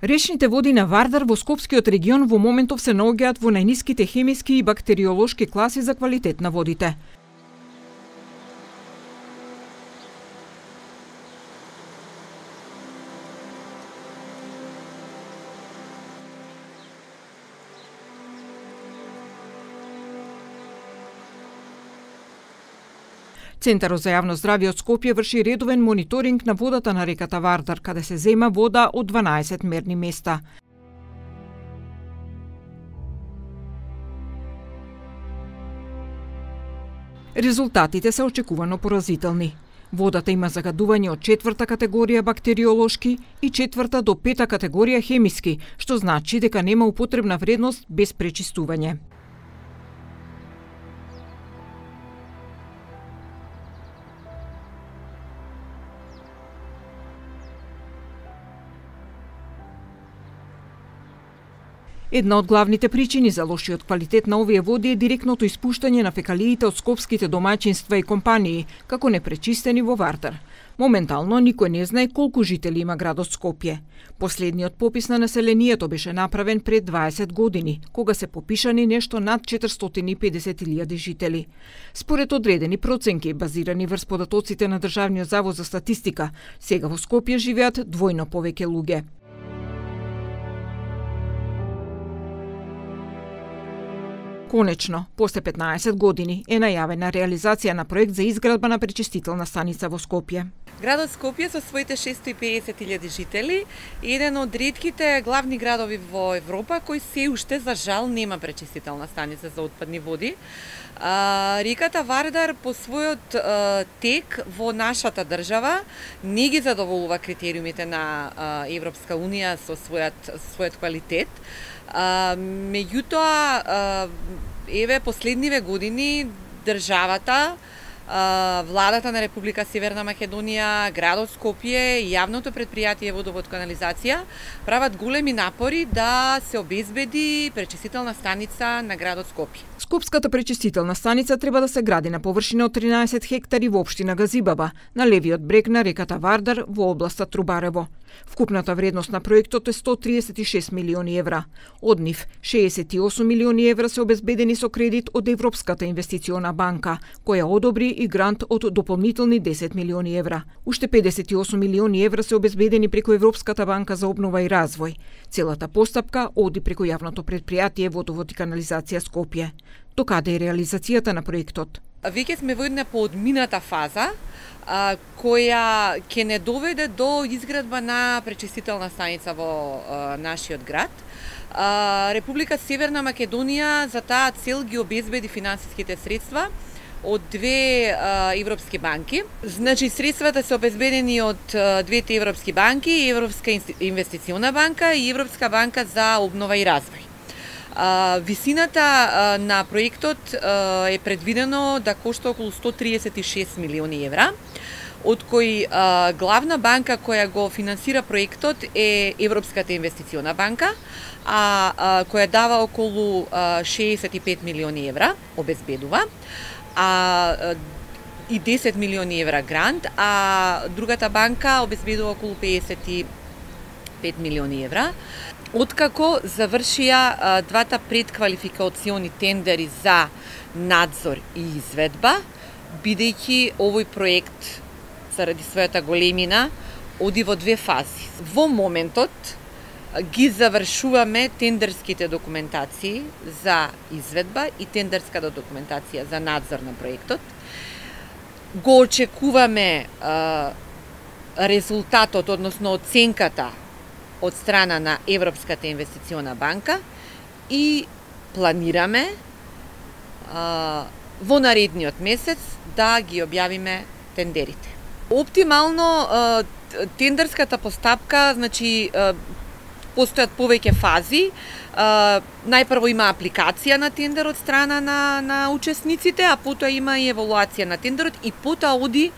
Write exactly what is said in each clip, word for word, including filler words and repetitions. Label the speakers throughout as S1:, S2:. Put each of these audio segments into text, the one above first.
S1: Речните води на Вардар во Скопскиот регион во моментов се наоѓаат во најниските хемиски и бактериолошки класи за квалитет на водите. Центарот за јавно здравје од Скопје врши редовен мониторинг на водата на реката Вардар, каде се зема вода од дванаесет мерни места. Резултатите се очекувано поразителни. Водата има загадување од четврта категорија бактериолошки и четврта до пета категорија хемиски, што значи дека нема употребна вредност без пречистување. Една од главните причини за лошиот квалитет на овие води е директното испуштање на фекалиите од скопските домаќинства и компании, како непречистени во Вардар. Моментално никој не знае колку жители има градот Скопје. Последниот попис на населението беше направен пред дваесет години, кога се попишани нешто над четиристотини и педесет илјади жители. Според одредени проценки, базирани врз податоците на Државниот завод за статистика, сега во Скопје живеат двојно повеќе луѓе. Конечно, после петнаесет години е најавена реализација на проект за изградба на пречистителна станица во Скопје.
S2: Градот Скопје со своите шестоста и педесет илјади жители е еден од ретките главни градови во Европа кој се уште за жал нема пречистителна станица за отпадни води. А, реката Вардар по својот а, тек во нашата држава не ги задоволува критериумите на а, Европска унија со својот, својот квалитет. А, меѓутоа, а, еве последниве години државата, а, владата на Република Северна Македонија, градот Скопје и јавното претпријатие Водовод канализација прават големи напори да се обезбеди пречистителна станица на градот Скопје.
S1: Скопската пречистителна станица треба да се гради на површина од тринаесет хектари во општина Газибаба, на левиот брег на реката Вардар во областа Трубарево. Вкупната вредност на проектот е сто триесет и шест милиони евра. Од нив шеесет и осум милиони евра се обезбедени со кредит од Европската инвестициона банка, која одобри и грант од дополнителни десет милиони евра. Уште педесет и осум милиони евра се обезбедени преку Европската банка за обнова и развој. Целата постапка оди преку јавното претпријатие Водовод и канализација Скопје. Докаде е реализацијата на проектот?
S2: Веќе сме во една поодмината фаза, а, која ќе не доведе до изградба на пречистителна станица во а, нашиот град. А, Република Северна Македонија за таа цел ги обезбеди финансиските средства од две а, европски банки. Значи, средствата се обезбедени од а, двете европски банки, Европска инвестициона банка и Европска банка за обнова и развој. А, висината а, на проектот а, е предвидено да кошта околу сто триесет и шест милиони евра, од кои а, главна банка која го финансира проектот е Европската инвестициона банка, а, а која дава околу а, шеесет и пет милиони евра, обезбедува, а и десет милиони евра грант, а другата банка обезбедува околу педесет и пет милиони евра. Откако завршија а, двата предквалификациони тендери за надзор и изведба, бидејќи овој проект заради својата големина оди во две фази. Во моментот ги завршуваме тендерските документации за изведба и тендерската документација за надзор на проектот. Го очекуваме а, резултатот, односно оценката од страна на Европската инвестициона банка и планираме а, во наредниот месец да ги објавиме тендерите. Оптимално а, тендерската постапка, значи а, постојат повеќе фази. А, најпрво има апликација на тендер од страна на, на учесниците, а потоа има и евалуација на тендерот и потоа оди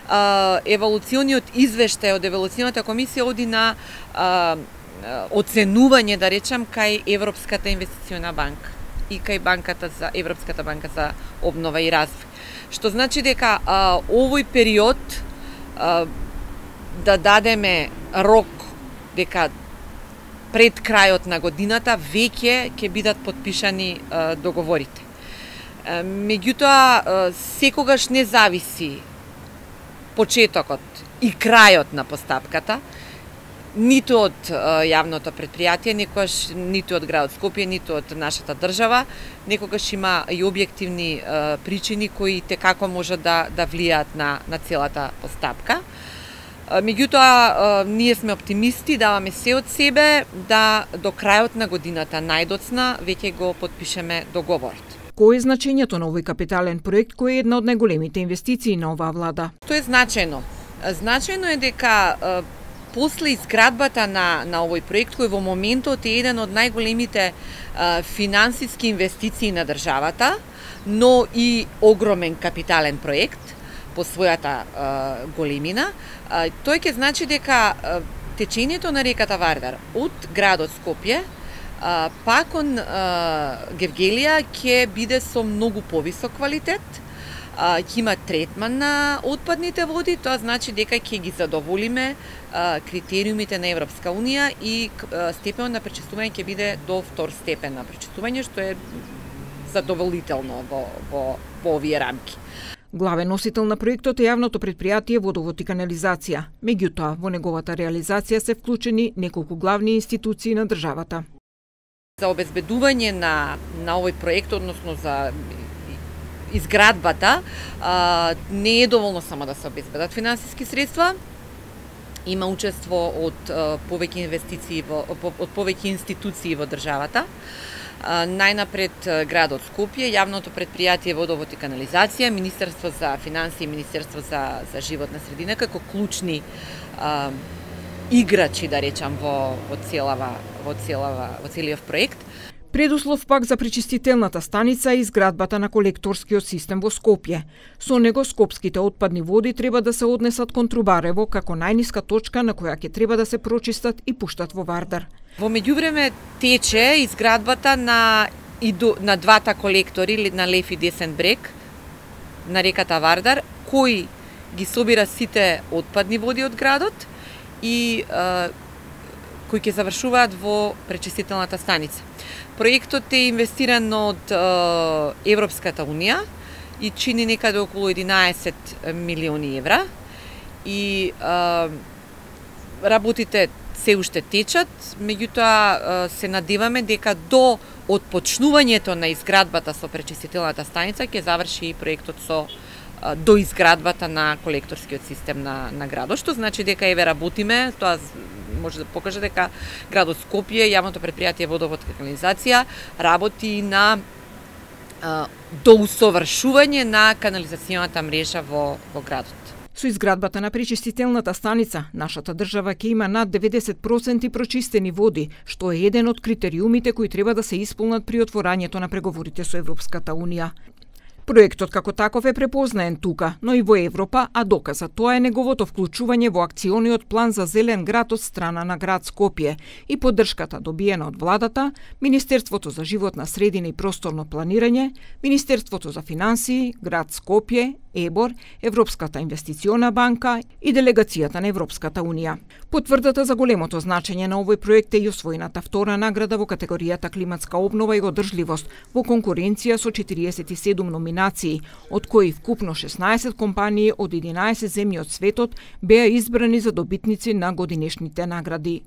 S2: а, евалуциониот извештај од евалуционата комисија оди на а, оценување, да речам, кај Европската инвестициона банка и кај банката за Европската банка за обнова и развој. Што значи дека а, овој период а, да дадеме рок дека пред крајот на годината веќе ќе бидат потпишани договорите. Меѓутоа, секогаш не зависи почетокот и крајот на постапката, ниту од јавното предпријатие, некогаш ниту од градот Скопје, ниту од нашата држава, некогаш има и објективни причини кои текако можат да, да влијаат на, на целата постапка. Меѓутоа, ние сме оптимисти, даваме се од себе да до крајот на годината најдоцна веќе го потпишеме договорот.
S1: Кој е значењето на овој капитален проект кој е една од најголемите инвестиции на оваа влада?
S2: Тоа е значајно. Значајно е дека после изградбата на, на овој проект, кој во моментот е еден од најголемите финансиски инвестиции на државата, но и огромен капитален проект по својата а, големина, а, тој ќе значи дека а, течењето на реката Вардар од градот Скопје а, па кон а, Гевгелија ќе биде со многу повисок квалитет, а, ќе има третман на отпадните води, тоа значи дека ќе ги задоволиме а, критериумите на Европска Унија и а, степенот на пречистување ќе биде до втор степен на пречистување, што е задоволително во, во, во овие рамки.
S1: Главен носител на проектот е јавното предпријатие Водовод и канализација. Меѓутоа, во неговата реализација се вклучени неколку главни институции на државата.
S2: За обезбедување на, на овој проект, односно за изградбата, а, не е доволно само да се обезбедат финансиски средства. Има учество од а, повеќе инвестиции во, од повеќе институции во државата. Најнапред градот Скопје, јавното предпријатие Водовод и канализација, Министерство за финансии и Министерство за, за животна средина како клучни а, играчи, да речам, во, во целава, во целава, во целиот проект.
S1: Предуслов пак за пречистителната станица е изградбата на колекторскиот систем во Скопје. Со него скопските отпадни води треба да се однесат кон Трубарево како најниска точка на која ќе треба да се прочистат и пуштат во Вардар.
S2: Во меѓувреме тече изградбата на, на двата колектори на лев и десен брег на реката Вардар, кои ги собира сите отпадни води од градот и а, кои ќе завршуваат во пречистителната станица. Проектот е инвестиран од а, Европската Унија и чини некаде околу единаесет милиони евра и а, работите се уште течат, меѓутоа се надеваме дека до отпочнувањето на изградбата со пречистителната станица ќе заврши и проектот со до изградбата на колекторскиот систем на, на градот, што значи дека еве работиме, тоа може да покаже дека градот Скопје, јавното предпријатие Водовод и канализација работи на а, доусовршување на канализационата мрежа во, во градот.
S1: Со изградбата на пречистителната станица, нашата држава ќе има над деветдесет проценти прочистени води, што е еден од критериумите кои треба да се исполнат при отворањето на преговорите со Европската Унија. Проектот како таков е препознаен тука, но и во Европа, а доказ за тоа е неговото вклучување во акциониот план за зелен град од страна на град Скопје и поддршката добиена од владата, Министерството за животна средина и просторно планирање, Министерството за финансии, град Скопје, ЕБОР, Европската инвестициона банка и делегацијата на Европската Унија. Потврдата за големото значење на овој проект е и освоената втора награда во категоријата климатска обнова и одржливост во конкуренција со четириесет и седум номинации, од кои вкупно шеснаесет компании од единаесет земји од светот беа избрани за добитници на годинешните награди.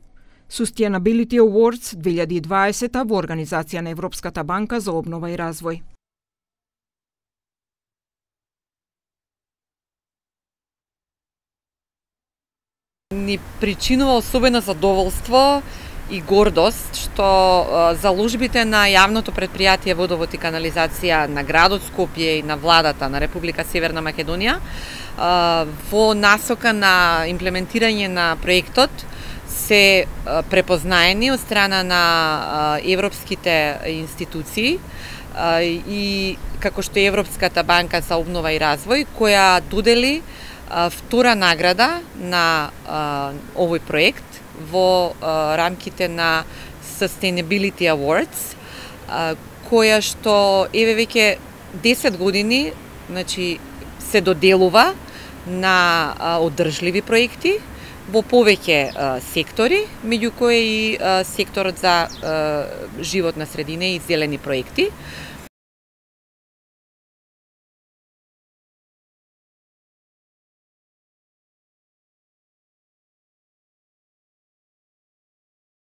S1: Sustainability Awards две илјади и дваесета во организација на Европската банка за обнова и развој.
S2: Ни причинува особено задоволство и гордост што заложбите на јавното предпријатие Водовод и канализација на градот Скопје и на владата на Република Северна Македонија во насока на имплементирање на проектот се препознаени од страна на европските институции и како што е Европската банка за обнова и развој, која додели втора награда на а, овој проект во а, рамките на Sustainability Awards, а, која што еве веќе десет години, значи се доделува на а, одржливи проекти, во повеќе сектори, меѓу кои и секторот за животна средина и зелени проекти,